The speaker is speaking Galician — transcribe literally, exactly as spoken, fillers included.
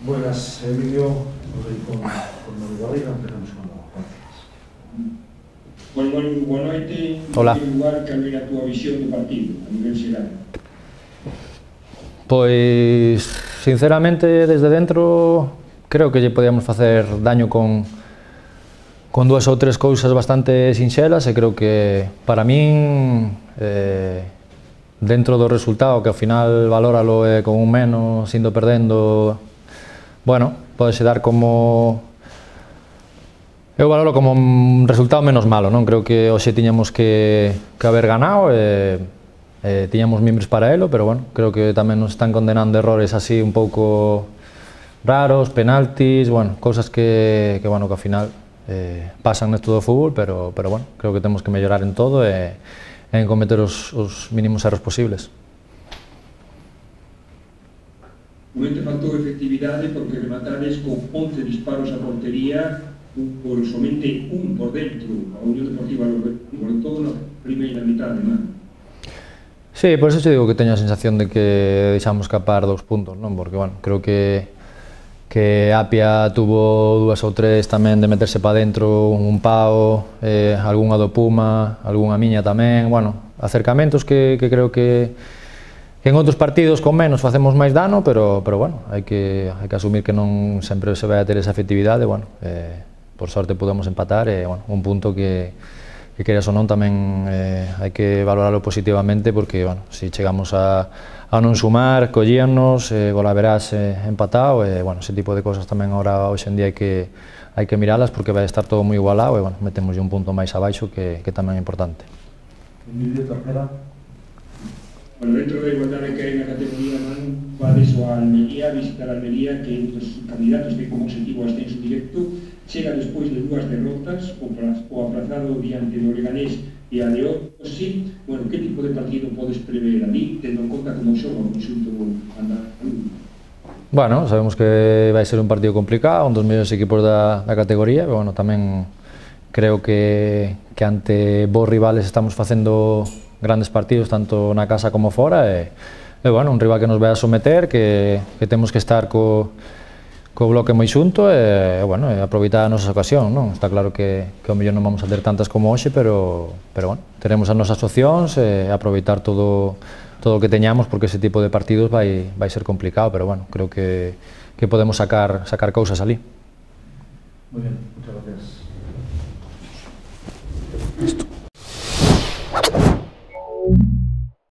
Buenas, Emilio, hoy con, con Manuel Barriga, empezamos con los partidos. Bueno, bueno, boa noite. Hola. En primeiro lugar, cal era a túa visión do partido, a nivel xeral? Pois, sinceramente, desde dentro, creo que lle podíamos facer daño con, con dúas ou tres cousas bastante sinxelas e creo que, para min, eh, dentro do resultado, que ao final valóralo eh, con un menos, indo perdendo, bueno, podese dar como... Eu valoro como un resultado menos malo, non? Creo que hoxe tiñamos que, que haber ganado e eh, tiñamos mimbres para elo, pero bueno, creo que tamén nos están condenando errores así un pouco raros, penaltis, bueno, cousas que, que, bueno, que ao final eh, pasan nesto do fútbol, pero, pero bueno, creo que temos que mellorar en todo e, e en cometer os, os mínimos erros posibles. Momente faltou efectividade porque rematades con once disparos a portería por somente un por dentro, a Unión Deportiva Logroño, por todo na primeira mitad de man. Sí, por eso te digo que teño a sensación de que deixamos escapar dous puntos, non? Porque, bueno, creo que que Apia tuvo dúas ou tres tamén de meterse para dentro, un pao, eh, algunha do Puma, algunha miña tamén, bueno, acercamentos que, que creo que en outros partidos con menos facemos máis dano, pero, pero bueno, hai que, hai que asumir que non sempre se vai a ter esa efectividade, bueno, eh, por sorte podemos empatar e, bueno, un punto que, que queras ou non tamén eh, hai que valorarlo positivamente porque, bueno, se chegamos a, a non sumar, collíannos, eh, golaverás eh, empatado e, bueno, ese tipo de cosas tamén agora hoxe en día hai que, hai que miralas porque vai estar todo moi igualado e, bueno, metemos un punto máis abaixo que, que tamén é importante. Emilio, tercera. Bueno, dentro da igualdade que hai na categoría, man, vades ao Almería, visitar a Almería, que é un dos candidatos que como objetivo ascenso directo, chega despois de dúas derrotas, o, o aprazado diante do Leganés e a de Osi. Bueno, que tipo de partido podes prever ali, tendo en conta como xoga o conxunto andaluz? Bueno, sabemos que vai ser un partido complicado, un dos mellores equipos da, da categoría, pero, bueno, tamén creo que, que ante vos rivales estamos facendo grandes partidos, tanto na casa como fora, e, e bueno, un rival que nos vai a someter, que, que temos que estar co, co bloque moi xunto e, bueno, e aproveitar a nosa ocasión, non? Está claro que, que ao mellor non vamos a ter tantas como hoxe, pero, pero bueno, teremos as nosas opcións e aproveitar todo, todo o que teñamos, porque ese tipo de partidos vai, vai ser complicado, pero bueno, creo que, que podemos sacar, sacar cousas ali. Muy bien, muchas gracias. Listo.